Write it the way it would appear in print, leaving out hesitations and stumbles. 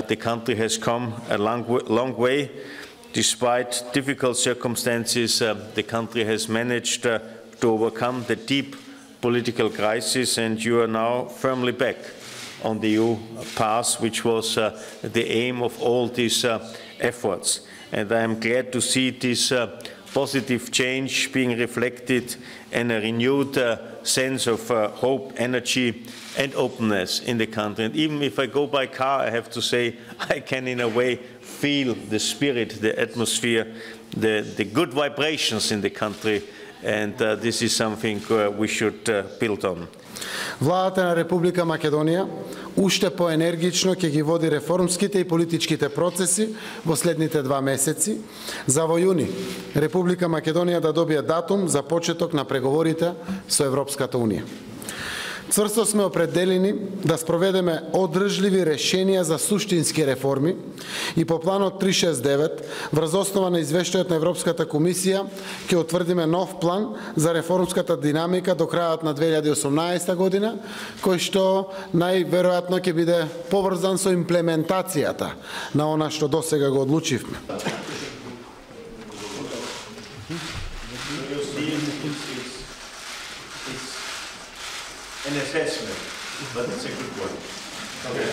The country has come a long way. Despite difficult circumstances, the country has managed to overcome the deep political crisis, and you are now firmly back on the EU path, which was the aim of all these efforts. And I am glad to see this positive change being reflected in a renewed sense of hope, energy and openness in the country. And even if I go by car, I have to say I can in a way feel the spirit, the atmosphere, the good vibrations in the country, and this is something we should build on. Владата на Република Македонија уште поенергично ќе ги води реформските и политичките процеси во следните 2 месеци, за во јуни Република Македонија да добие датум за почеток на преговорите со Европската Унија. Цврсто сме определени да спроведеме одржливи решенија за суштински реформи и по планот 369, врз основа на извештајот на Европската комисија, ќе утврдиме нов план за реформската динамика до крајот на 2018 година, кој што најверојатно ќе биде поврзан со имплементацијата на она што досега го одлучивме. An assessment, but it's a good one. Okay.